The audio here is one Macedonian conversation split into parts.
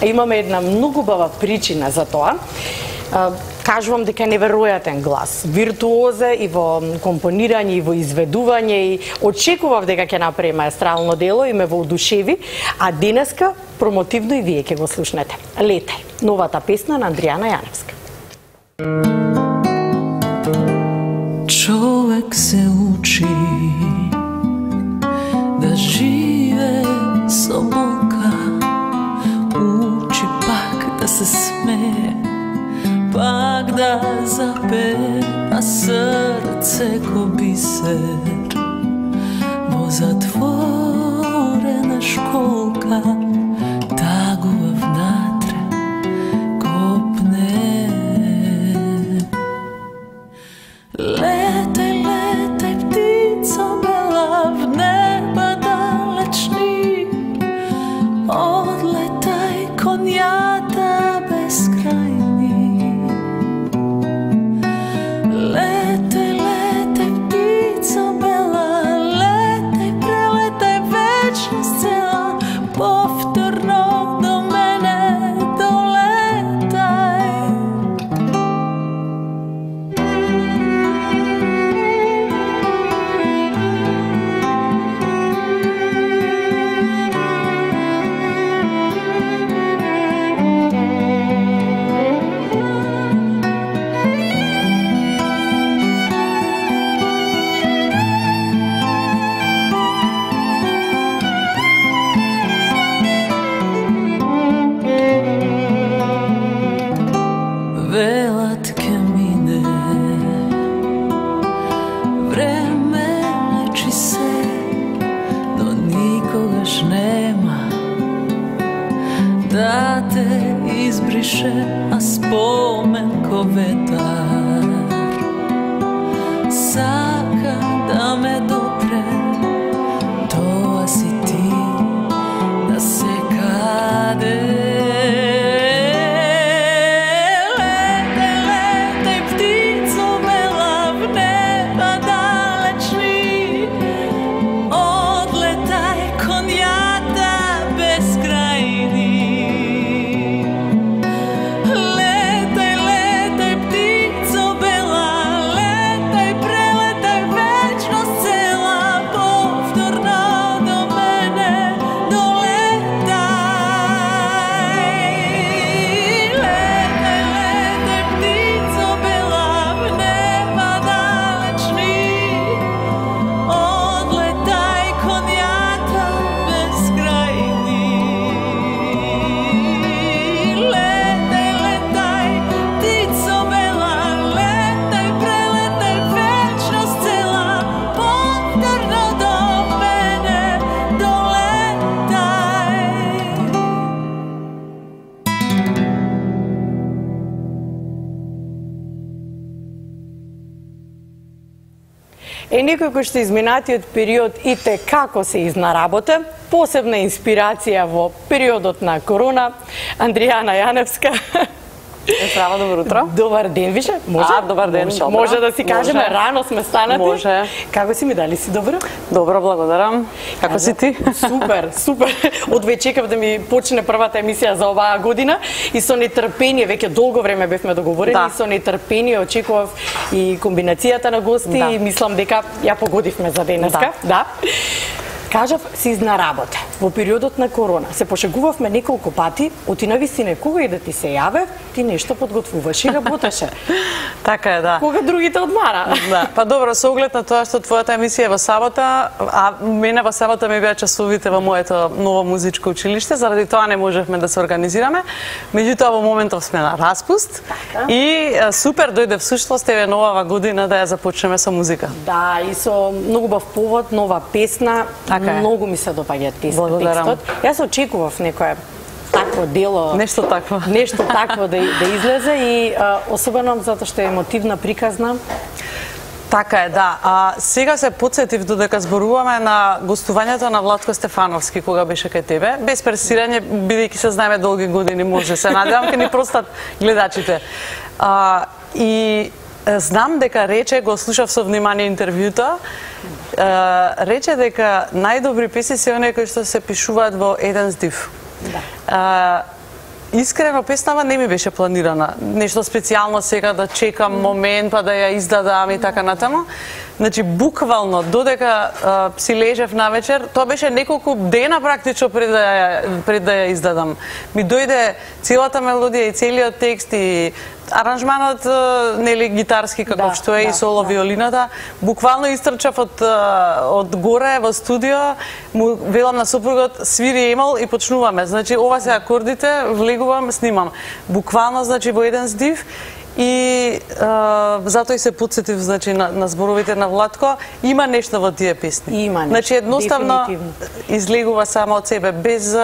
Имаме една многу убава причина за тоа. Кажувам дека е неверојатен глас, виртуозе и во компонирање и во изведување, и очекував дека ќе направи маестрално дело и ме воодушеви, а денеска промотивно и вие ќе го слушнете. Летај, новата песна на Андријана Јаневска. Човек се учи да живее со болка, учи пак да се смее, пак да запее, а срце ко бисер во затворена школка тагува внатре копне. Летај, летај, птицо бела, в неба далечни, одлетај конјата безкрајни. Летај, летај, птицо бела, летај, прелетај вечност цела, повторно до мене долетај. Велат ке мине, време лечи се, но никогаш нема да те избрише, а спомен ко ветар сака да ме допре, тоа си ти да се каде. Некој кој што изминатиот период и те како се изнаработа, посебна инспирација во периодот на корона, Андријана Јаневска. Здраво, добро утро. Добар ден више. Може? Добар ден. Може да си кажеме, рано сме станати. Може. Како си ми, дали си добро? Добро, благодарам. Како си ти? Супер, супер. Одве чекав да ми почне првата емисија за оваа година и со нетрпение, веќе долго време бевме договорени, и со нетрпение очекував и комбинацијата на гости и мислам дека ја погодивме за денеска. Да. Кажав, си изнаработа. Во периодот на корона се пошегувавме неколку пати, оти навистина кога и да ти се јаве, ти нешто подготвуваш и работеше. Така е, да. Кога другите одмара. Да. Па добро, со оглед на тоа што твојата емисија е во сабота, а мене во сабота ми беа часовите во моето ново музичко училиште, заради тоа не можевме да се организираме. Меѓутоа во моментов сме на распуст и супер дојде всуштност еве новава година да ја започнеме со музика. Да, и со многу бав повод, нова песна. Многу ми се допаѓа текстот. Јас очекував некое такво дело, нешто такво да излезе и особено затоа што е емотивна, приказна. Така е, да. А сега се потсетив додека зборуваме на гостувањето на Владко Стефановски кога беше кај тебе. Без пресирање, бидејќи се знаеме долги години, може се надевам ќе ни простат гледачите. И знам дека рече, го слушав со внимание интервјуто, рече дека најдобри песни се оние кои што се пишуваат во еден здив. Искрено, песнава не ми беше планирана. Нешто специјално сега да чекам момент па да ја издадам и така натаму. Значи, буквално, додека си лежев навечер, тоа беше неколку дена практично пред да ја издадам. Ми дојде целата мелодија и целиот текст и аранжманот, нели, гитарски каков што е и соло виолината. Буквално истрчав од горе во студио, му велам на сопругот, свири Емал и почнуваме. Значи, ова се акордите, влегувам, снимам. Буквално, значи, во еден здив. И затоа и се подсетив, значи, на зборовите на Владко. Има нешто во тие песни. Има нешто, значи, едноставно излегува само од себе, без,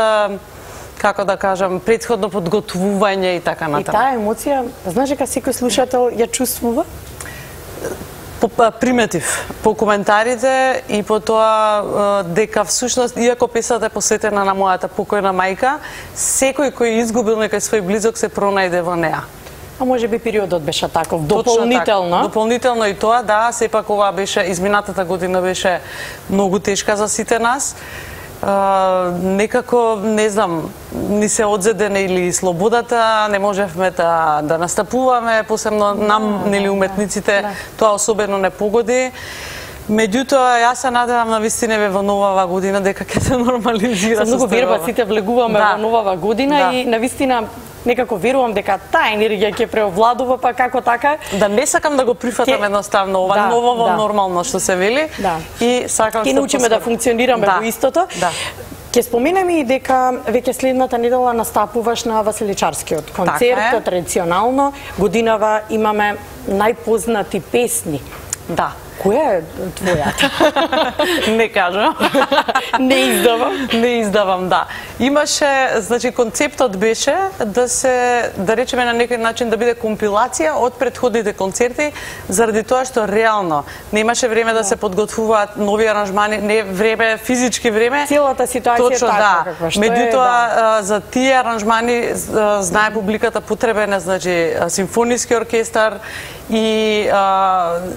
како да кажам, претходно подготвување и така натаму. И таа емоција, знаеш дека секој слушател ја чувствува? Приметив по коментарите и по тоа дека всушност, иако песната е посветена на мојата покојна мајка, секој кој изгубил некој свој близок се пронајде во неа. А може би периодот беше таков, дополнително. Така, дополнително и тоа, да, сепак ова беше, изминатата година беше многу тешка за сите нас. Некако, не знам, ни се одзедене или слободата, не можевме да настапуваме, посебно нам, нели, уметниците, тоа особено не погоди. Меѓутоа, јас се надевам на вистина во новава година дека ќе се нормализира. Со многу верба сите влегуваме во новава година и на вистина некако верувам дека таа енергија ќе преовладува, па како така. Да, не сакам да го прифатам едноставно ова ново нормално што се вели. И сакам ќе научиме да функционираме во истото. Ќе споменеме и дека веќе следната недела настапуваш на Василичарскиот концерт, традиционално годинава имаме најпознати песни. Да. Која е твојата? Не кажам. Не издавам. Не издавам, да. Имаше, значи, концептот беше да речеме на некој начин да биде компилација од претходните концерти, заради тоа што реално немаше време да се подготвуваат нови аранжмани, не време, физички време. Целата ситуација точно, така каква што е. Меѓутоа, за тие аранжмани знае публиката потребен е, значи, симфониски оркестар и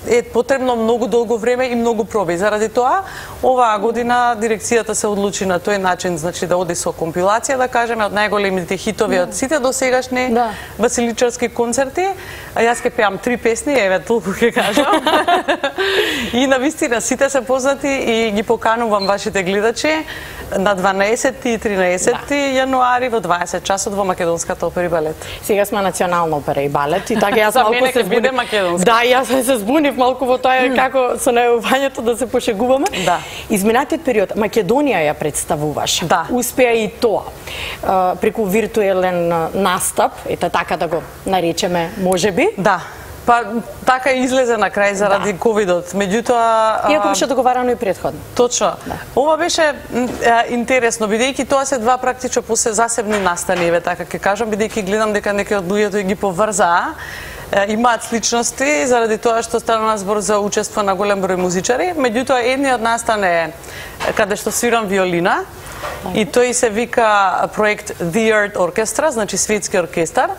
е потребно многу долго време и многу проби. Заради тоа, оваа година дирекцијата се одлучи на тој начин, значи да оди со компилација, да кажеме, од најголемите хитови од сите досегашни Василичарски концерти. А јас ќе пеам 3 песни, еве толку ќе кажам. И навистина сите се познати и ги поканувам вашите гледачи на 12 и 13 јануари во 20 часот во Македонската опера и балет. Сега сме Национална опера и балет и така јас малку се збунив. Да, јас се збунив малку во тоа како со најавањето да се пошегуваме. Да. Изминатиот период Македонија ја представуваш. Да. Успеа и тоа. Преку виртуелен настап, ете така да го наречеме, можеби. Да. Па така излезе на крај заради ковидот. Меѓутоа, иако беше договарано и претходно. Точно. Ова беше интересно, бидејќи тоа се два практично засебни настани, еве така ќе кажам, бидејќи гледам дека некои од луѓето ги поврзаа. Имаат сличности заради тоа што стана збор за учество на голем број музичари. Меѓутоа, едниот настан е каде што свирам виолина и тој се вика проект The Earth Orchestra, значи светски оркестар.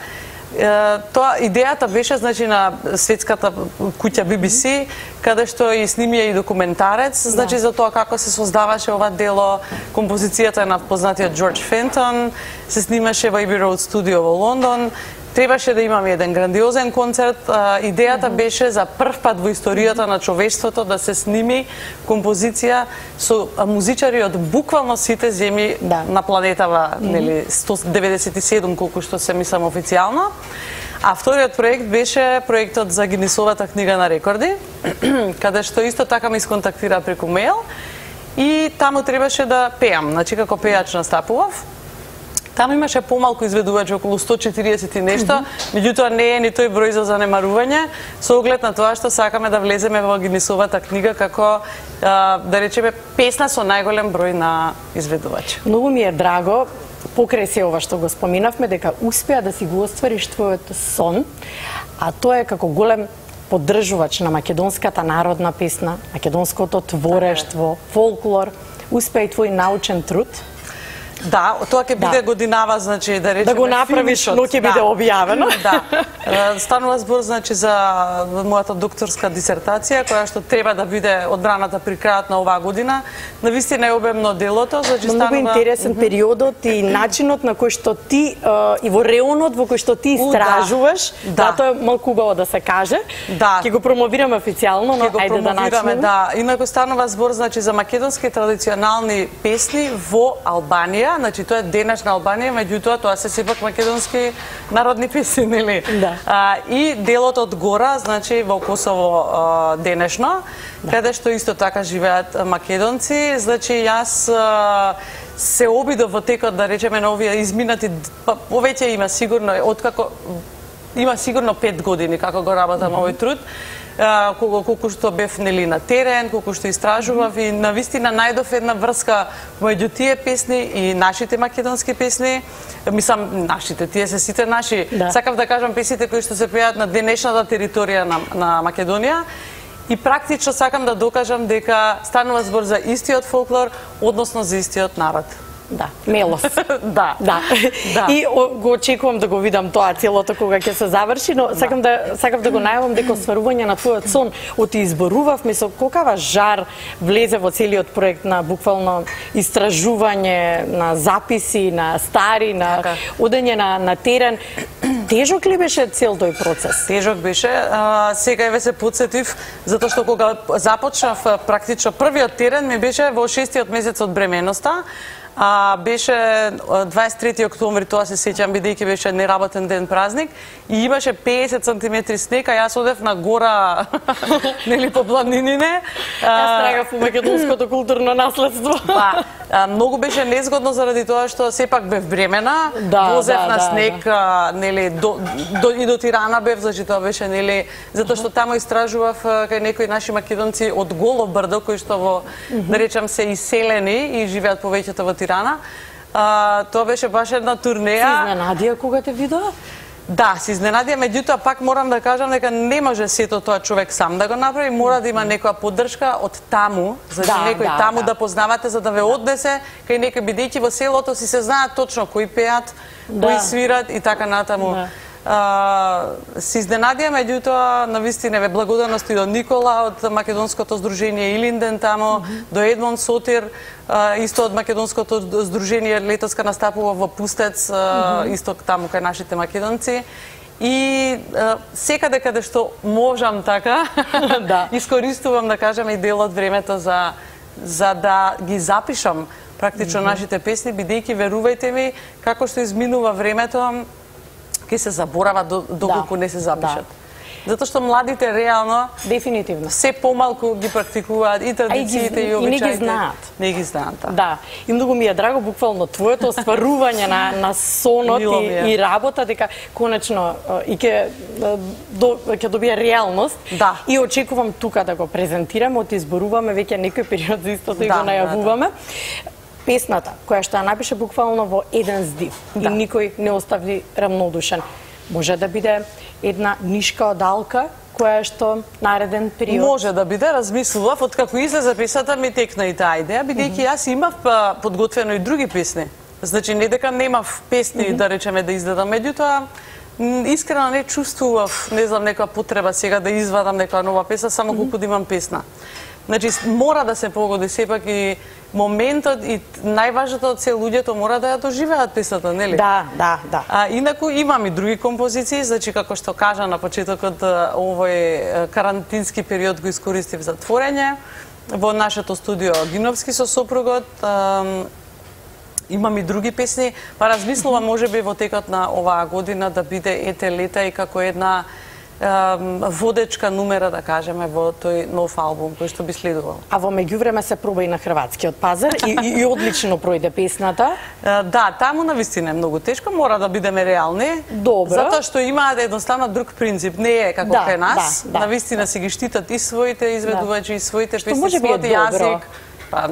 Тоа идејата беше, значи, на светската куќа BBC, каде што и снимија и документарец, значи за тоа како се создаваше ова дело. Композицијата е на познатиот Джордж Фентон, се снимаше во Abbey Road студио во Лондон. Требаше да имаме еден грандиозен концерт. Идејата беше за прв пат во историјата на човештвото да се сними композиција со музичари од буквално сите земји на планетава, нели 197 колку што се мислам официјално. А вториот проект беше проектот за Гинисовата книга на рекорди, каде што исто така ме исконтактира преку мејл и таму требаше да пеам, значи како пејач настапував. Таму имаше помалку изведувачи, околу 140 и нешто, меѓутоа не е ни тој број за занемарување, со оглед на тоа што сакаме да влеземе во Гинисовата книга како, да речеме, песна со најголем број на изведувачи. Многу ми е драго, покрај се ова што го споминавме, дека успеа да си го оствариш твојот сон, а тоа е како голем поддржувач на македонската народна песна, македонското творештво, фолклор, успеа и твој научен труд. Да, тоа ќе биде годинава, значи да речеме да го направиш, но ќе биде објавено. Да. Станува збор значи за мојата докторска дисертација која што треба да биде одбраната при крајот на оваа година. Навистина е обемно делото, значи станува многу интересен периодот и начинот на кој што ти и во реонот во кој што ти истражуваш. Да, тоа е малку убаво да се каже. Да. Ќе го промовираме официјално, но ајде да начнеме. Да, инаку станува збор значи за македонски традиционални песни во Албанија, значи тоа е денешна Албанија, меѓутоа тоа се сепак македонски народни песни, нели? Да. И делот од гора, значи во Косово денешно, каде што исто така живеат македонци, значи јас се обидов во текот да речеме на овие изминати повеќе има сигурно откако има сигурно 5 години како го работам овој труд. Колку што бев нели на терен, колку што истражував и навистина најдов една врска меѓу тие песни и нашите македонски песни. Мислам, нашите, тие се сите наши. Да. Сакав да кажам песните кои што се пеат на денешната територија на Македонија. И практично сакам да докажам дека станува збор за истиот фолклор, односно за истиот народ. Да, мелос. Да. И го очекувам да го видам тоа целото кога ќе се заврши, но сакав да го најавам дека остварување на твојот сон од изборувавме со колкава жар влезе во целиот проект на буквално истражување, на записи, на стари, на одење на терен. Тежок ли беше цел тој процес? Тежок беше. Сега еве се потсетив затоа што кога започнав практично првиот терен ми беше во 6-тиот месец од бременоста. Беше 23 октомври, тоа се сеќам, бидејќи беше неработен ден празник, и имаше 50 сантиметри снег, а јас одев на гора, нели по планинине. Јас трагав у македонското културно наследство. Многу беше незгодно заради тоа што сепак бев бремена, возев на снег, нели и до Тирана бев, значи тоа беше нели затоа што таму истражував кај некои наши македонци од Голо брдо кои што во да речам се иселени и живеат повеќето во Тирана. Тоа беше баш една турнеја. Се изненадија кога те видоа? Да, се изненадија, меѓутоа пак морам да кажам дека не може сето тоа човек сам да го направи, мора да има некоја поддршка од таму, значи некој таму да познавате за да ве однесе кај некој, бидејќи во селото си се знаат точно кои пеат, кои свират и така натаму. Се изненадија, меѓутоа навистина ве благодарности до Никола од македонското здружение Илинден таму, до Едмон Сотир, исто од македонското здружение летоска настапува во Пустец, исто таму кај нашите македонци. И секаде каде што можам така, искористувам да кажам и дел од времето за да ги запишам практично нашите песни, бидејќи верувајте ми, како што изминува времето, ќе се заборава доколку не се запишат. Затоа што младите реално дефинитивно се помалку ги практикуваат и традициите и обичаите. И не ги знаат. Не ги знаат. Да. И многу ми е драго буквално твоето остварување на сонот и работа дека конечно и ќе добие реалност. Да. И очекувам тука да го презентираме, изборуваме веќе некој период за истото и го најавуваме. Песната, која што ја напише буквално во еден здив и никој не остави равнодушен. Може да биде една нишка одалка која што нареден период. Може да биде, размислував, откако излезе песната ми текна и таа идеја, бидејќи јас имав подготвено и други песни. Значи не дека немав песни да речеме да издадам, меѓутоа искрено не чувствував, не знам, некоја потреба сега да извадам некоја нова песна, само колку да имам песна. Значи, мора да се погоди сепак и моментот и најважното од се луѓето мора да ја доживеат песната, нели? Да. Инаку имам и други композиции, значи како што кажа на почетокот, овој карантински период го искористив за творење. Во нашето студио Гиновски со сопругот имам и други песни, па размислувам можеби во текот на оваа година да биде Ете лета и како една водечка нумера, да кажеме, во тој нов албум кој што би следувал. А во меѓувреме се проба и на хрватскиот пазар и одлично пројде песната. Да, таму навистина е многу тешко, мора да бидеме реални. Добро. Затоа што имаат едноставно друг принцип, не е како кај нас. Навистина се ги штитат и своите изведувачи, и своите песни, својот јазик.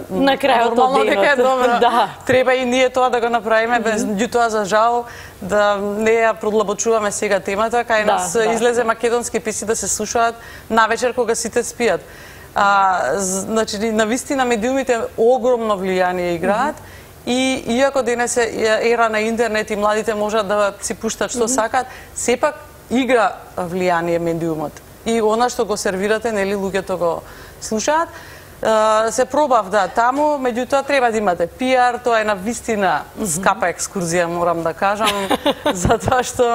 На крајот од денот. Да. Треба и ние тоа да го направиме, меѓутоа за жал да не ја продлабочуваме сега темата, кај нас излезе македонски песни да се слушаат навечер кога сите спијат. Значи, навистина медиумите огромно влијание играат И иако денес е ера на интернет и младите можат да си пуштат што сакат, сепак игра влијание медиумот. И она што го сервирате, нели, луѓето го слушаат. Се пробав таму, меѓутоа треба да имате пиар, тоа е на вистина скапа екскурзија, морам да кажам, затоа што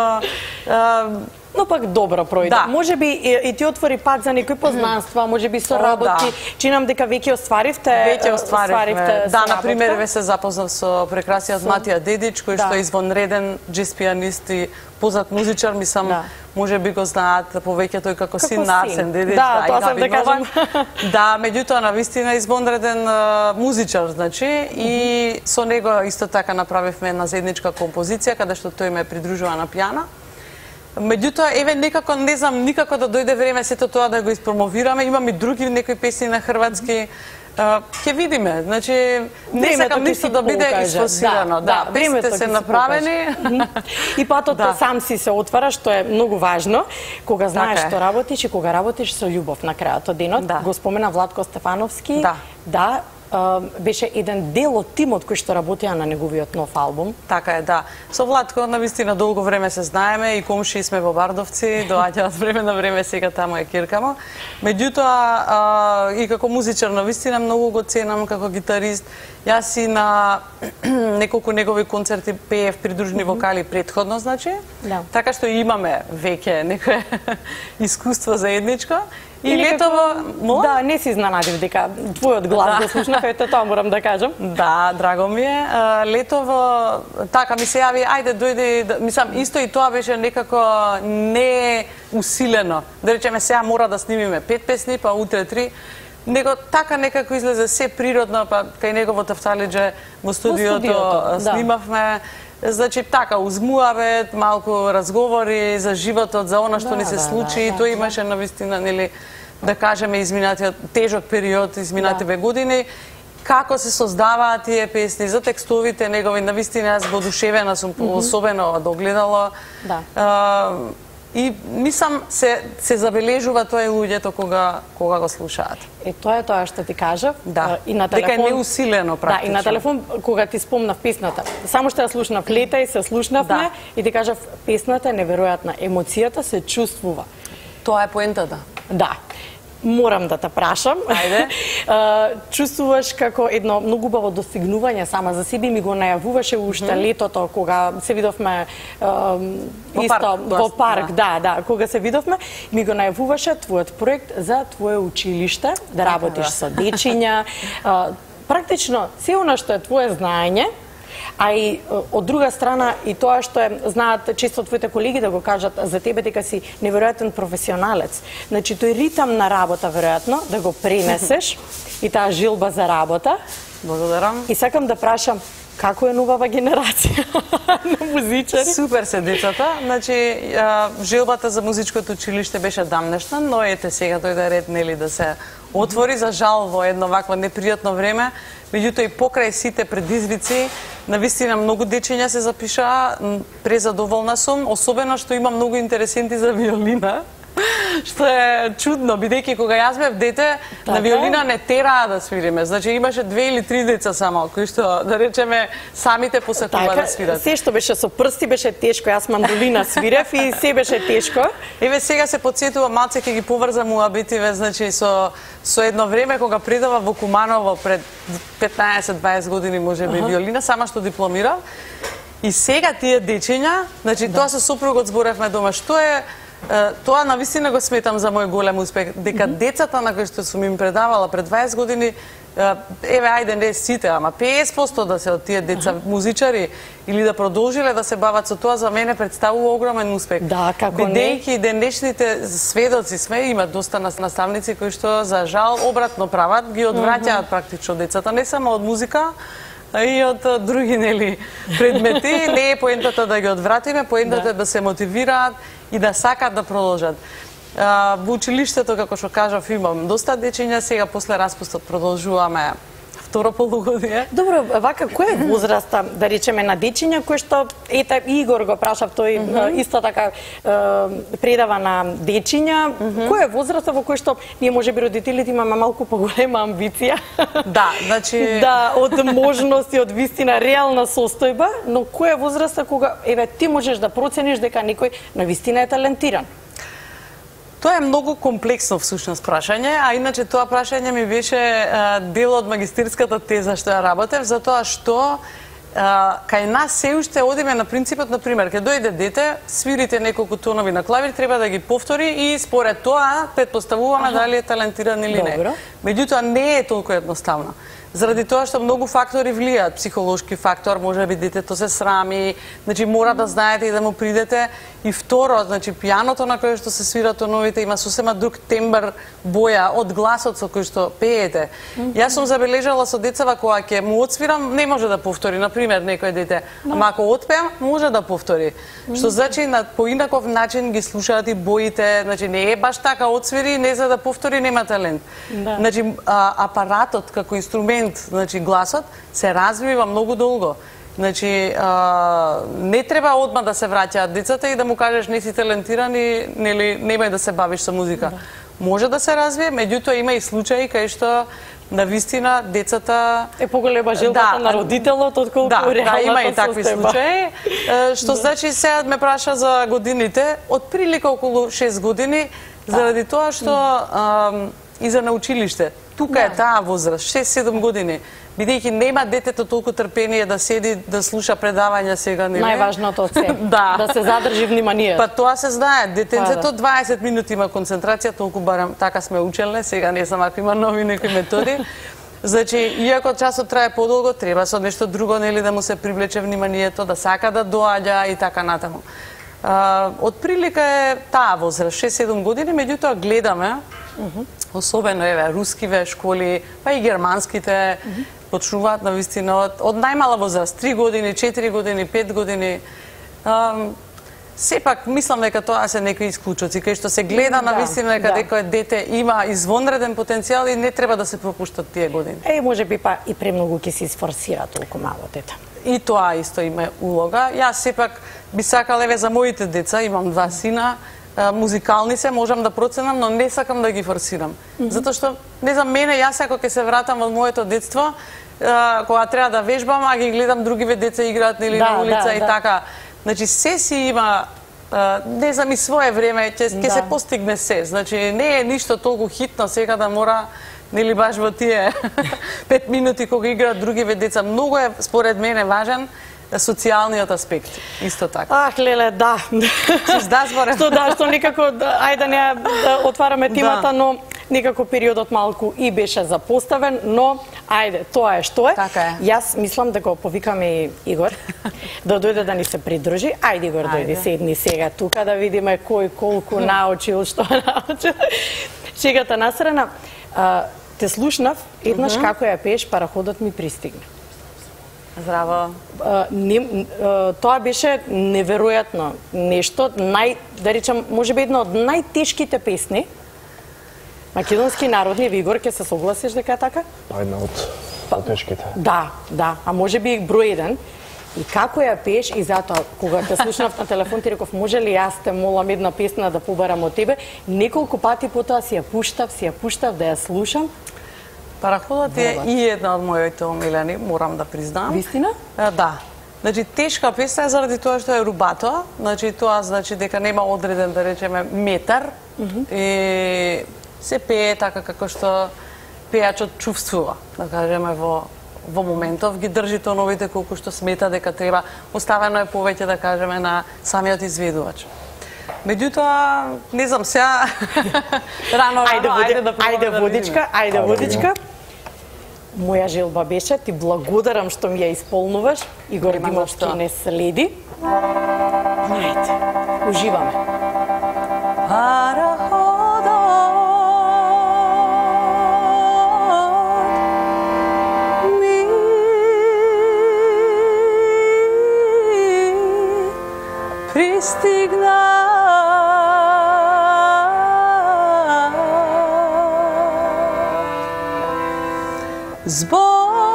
но пак добро пројде. Да. Може би и ти отвори пат за некои познанства, може би со работи. Чинам дека веќе остваривте. Да, на пример, ве се запознав со прекрасниот Матија Дедич, кој што е извонреден джез пианист и познат музичар, мислам, може би го знаат повеќе тој како син на Арсен Дедич. Да, тоа сам да кажам. Да, меѓутоа на вистина извонреден музичар, значи, и со него исто така направивме една заедничка композиција каде што тој ме придружува на пијана. Меѓутоа, еве, некако не знам никако да дојде време сето тоа да го испромовираме. Имам и други некои песни на хрватски. Ќе видиме. Значи, не сакам ништо да биде изфосирано. Да, песните се направени. И патот сам си се отвара, што е многу важно, кога знаеш што работиш и кога работиш со љубов на крајот од денот. Го спомена Владко Стефановски. Да, беше еден дел од тимот кој што работеа на неговиот нов албум. Така е, да. Со Владко навистина долго време се знаеме и комши сме во Бардовци, доаѓаат време на време, сега таму е киркамо. Меѓутоа и како музичар навистина многу го ценам како гитарист. Јас и на неколку негови концерти пеев придружни вокали претходно, значи. Така што имаме веќе некое искуство заедничко. И летово... Да, не си изненадив дека твојот глас го слушнав, ете тоа морам да кажам. Да, драго ми е. Летово, така ми се јави, ајде дојде, мислам, исто и тоа беше некако не усилено. Да речеме, сега мора да снимиме 5 песни, па утре 3. Него така некако излезе се природно, па кај негово тафталиџе во студиото снимавме. Значи, така, узмуавет, малку разговори за животот, за она што ни се случи. Тоа имаше навистина, нели, да кажеме, изминатиот тежок период, изминативе години. Како се создаваат тие песни, за текстовите негови, навистина, јас воодушевена сум, особено од огледало. И мислам се забележува тоа и луѓето кога го слушаат. Тоа е тоа што ти кажав. Да. И на телефон, дека е неусилено практично. Да, и на телефон кога ти спомнав песната. Само што ја слушнав лета и се слушнавме и ти кажав песната е неверојатна, емоцијата се чувствува. Тоа е поентата. Да. Морам да те прашам. Ајде. Чувствуваш како едно многу убаво достигнување сама за себе, ми го најавуваше уште летото кога се видовме исто во парк, кога се видовме, ми го најавуваше твојот проект за твое училиште, да работиш со дечиња, практично се она што е твое знаење, а и од друга страна и тоа што знаат често твоите колеги да го кажат за тебе дека си неверојатен професионалец. Значи тој ритам на работа веројатно да го пренесеш и таа жилба за работа. Благодарам. И сакам да прашам како е новава генерација на музичари? Супер се децата. Значи жилбата за музичкото училиште беше дамнешна, но ете сега дојде ред, нели, да се отвори, за жал во едно вакво непријатно време. Меѓутоа и покрај сите предизвици, навистина многу дечиња се запишаа, презадоволна сум, особено што има многу интересенти за виолина, што е чудно, бидејќи кога јас бев дете, на виолина не тераа да свириме. Значи имаше 2 или 3 деца само, кои што, да речеме, самите посакува да свират. Се што беше со прсти беше тешко, јас мандолина свирев и се беше тешко. Еве сега се потсетува, малце ќе ги поврзам муабитиве, значи со едно време кога предава во Куманово пред 15-20 години можеби виолина, само што дипломирав. И сега тие дечиња, значи тоа со сопругот зборевме дома, што е тоа навистина го сметам за мој голем успех, дека децата на кои што сум им предавала пред 20 години, еве ајде не сите, ама 50% да се од тие деца музичари или да продолжиле да се бават со тоа, за мене представува огромен успех. Да, како не. Бидејќи денешните сведоци сме, има доста наставници кои што за жал обратно прават, ги одвраќаат практично децата, не само од музика, и од други, нели, предмети. Не е поентата да ги одвратиме, поентата е да се мотивираат и да сакат да продолжат. Во училиштето, како што кажав, имам доста дечиња, сега после распустот продолжуваме второ полугодие. Добро, вака кој е возраста, да речеме, на дечиња кој што ете Игор го прашав, тој исто така предава на дечиња, кој е возраста во кој што ние можеби родителите имаме малку поголема амбиција. Да, значи да, од можности, од вистина реална состојба, но која е возраста кога еве ти можеш да процениш дека некој на вистина е талентиран? Тоа е многу комплексно всушност прашање, а иначе тоа прашање ми беше дел од магистирската теза што ја работев, затоа што кај нас се уште одиме на принципот, на пример, ќе дојде дете, свирите неколку тонови на клавир, треба да ги повтори и според тоа предпоставуваме дали е талентиран или не. Меѓутоа не е толку едноставно. Заради тоа што многу фактори влијаат, психолошки фактор, можеби детето се срами, значи мора да знаете и да му придете. И второ, значи пијаното на кое што се свира тоновите има сосема друг тембр, боја од гласот со кој што пеете. Јас сум забележала со децава кога ќе му отсвирам, не може да повтори, на пример, некој дете, ама ако отпеам, може да повтори. Што значи на поинаков начин ги слушаат и боите, значи не е баш така отсвири, не за да повтори нема талент. Значи апаратот како инструмент, значи гласот се развива многу долго. Значи, не треба одма да се враќаат децата и да му кажеш не си талентиран и нели немај да се бавиш со музика. Може да се развие, меѓутоа има и случаи кај што на вистина децата е поголема желбата на родителот отколку реалната состојба. Има и такви случаи. Што значи сега ме праша за годините, од прилика околу 6 години, заради тоа што и за на училиште. Тука е таа возраст, 6-7 години. Бидејќи нема детето толку трпение да седи, да слуша предавања сега, нели? Најважното од се, да се задржи вниманието. Па тоа се знае, детенцето 20 минути има концентрација, толку барем така сме учелне, сега не знам ако има нови некои методи. Значи, иако часот трае подолго, треба со нешто друго, нели, да му се привлече вниманието, да сака да доаѓа и така натаму. Од прилика е таа возраст, 6-7 години, меѓутоа гледаме, особено еве рускиве школи, па и германските почнуваат на вистина од најмала возраст, 3 години, 4 години, 5 години. Сепак мислам дека тоа се некои исклучоци, кај што се гледа на вистина дека некој дете има извонреден потенцијал и не треба да се пропуштат тие години. Можеби па и премногу ќе се изфорсира толку мало дете. И тоа исто има улога. Јас сепак би сакала еве за моите деца, имам 2 сина, музикални се, можам да проценам, но не сакам да ги форсирам. Затоа што, не знам, мене, јас ако ќе се вратам од моето детство, кога треба да вежбам, а ги гледам другиве деца играат нели на улица и така. Значи, се си има, не знам, и свое време, ќе се постигне се. Значи, не е ништо толку хитно сега да мора, нели баш во тие 5 минути кога играат другиве деца. Многу е, според мене, важен социјалниот аспект, исто така. Леле, да. Што некако, ајде не отвараме темата, но некако периодот малку и беше запоставен, но ајде, тоа е што е. Така е. Јас мислам да го повикаме и Игор, да дојде да ни се придружи. Ајде, Игор, дојди, седни сега тука да видиме кој колку научил, што научил. Шегата насрана. Те слушнав еднаш како ја пееш Параходот ми пристигна. Здраво. Тоа беше неверојатно нешто, да речам, можеби една од најтешките песни македонски народни, Игор, ќе се согласиш дека е така? Една од тешките. Да, а можеби број 1. И како ја пееш, и затоа, кога те слушнав на телефон, ти реков, може ли јас те молам една песна да побарам од тебе? Неколку пати потоа си ја пуштав да ја слушам. Параходот е и една од моите омилени, морам да признам. Вистина? Да. Значи, тешка песна е заради тоа што е рубато. Значи, тоа значи дека нема одреден, да речеме, метар. И се пее така како што пејачот чувствува, да кажеме, во моментов, ги држи тоновите колку што смета дека треба. Оставено е повеќе, да кажеме, на самиот изведувач. Меѓутоа, не знам, сега рано, ајде водичка. Моја желба беше, ти благодарам што ми ја исполнуваш. Игор Димовски не следи. Ајде, уживаме. Пристигна збор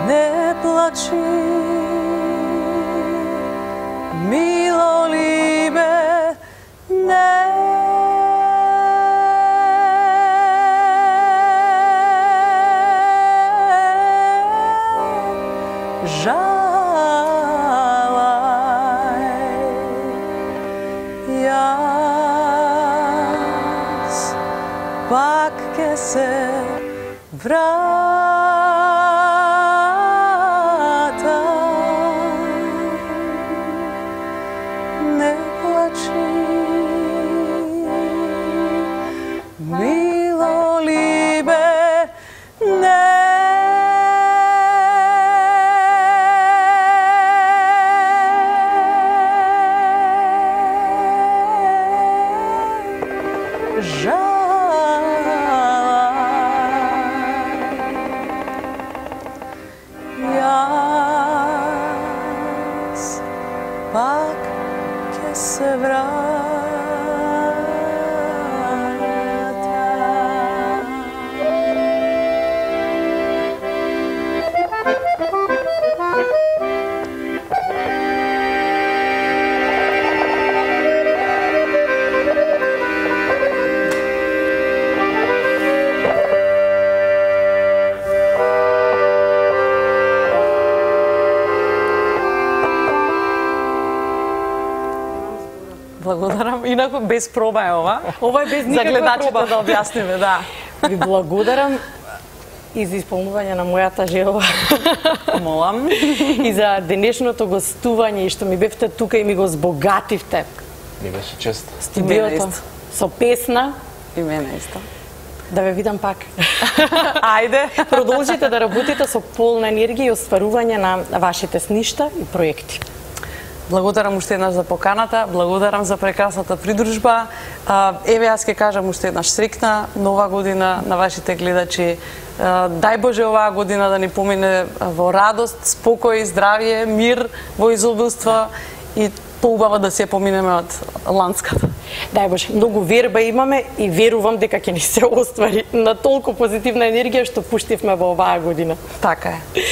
Не плачи, мило либе, не жалај. Јас пак ке се вратам. Не плачи, мило либе, не Јас пак ке се вратам. Благодарам. Инаку без проба е ова. Ова е без За никаква гледачите проба. да објасниме, да. Ви благодарам и за исполнување на мојата желба. Молам. И за денешното гостување и што ми бевте тука и ми го збогативте Ми беше чест. студиото исто. со песна. И мене исто. Да ве видам пак. Ајде. Продолжите да работите со полна енергија и остварување на вашите сништа и проекти. Благодарам уште еднаш за поканата, благодарам за прекрасната придружба. Еве, јас ќе кажам уште еднаш среќна нова година на вашите гледачи. Дај Боже оваа година да ни помине во радост, спокој, здравје, мир, во изобилство и поубаво да се поминеме од ланската. Дај Боже, многу верба имаме и верувам дека ќе ни се оствари на толку позитивна енергија што пуштивме во оваа година. Така е.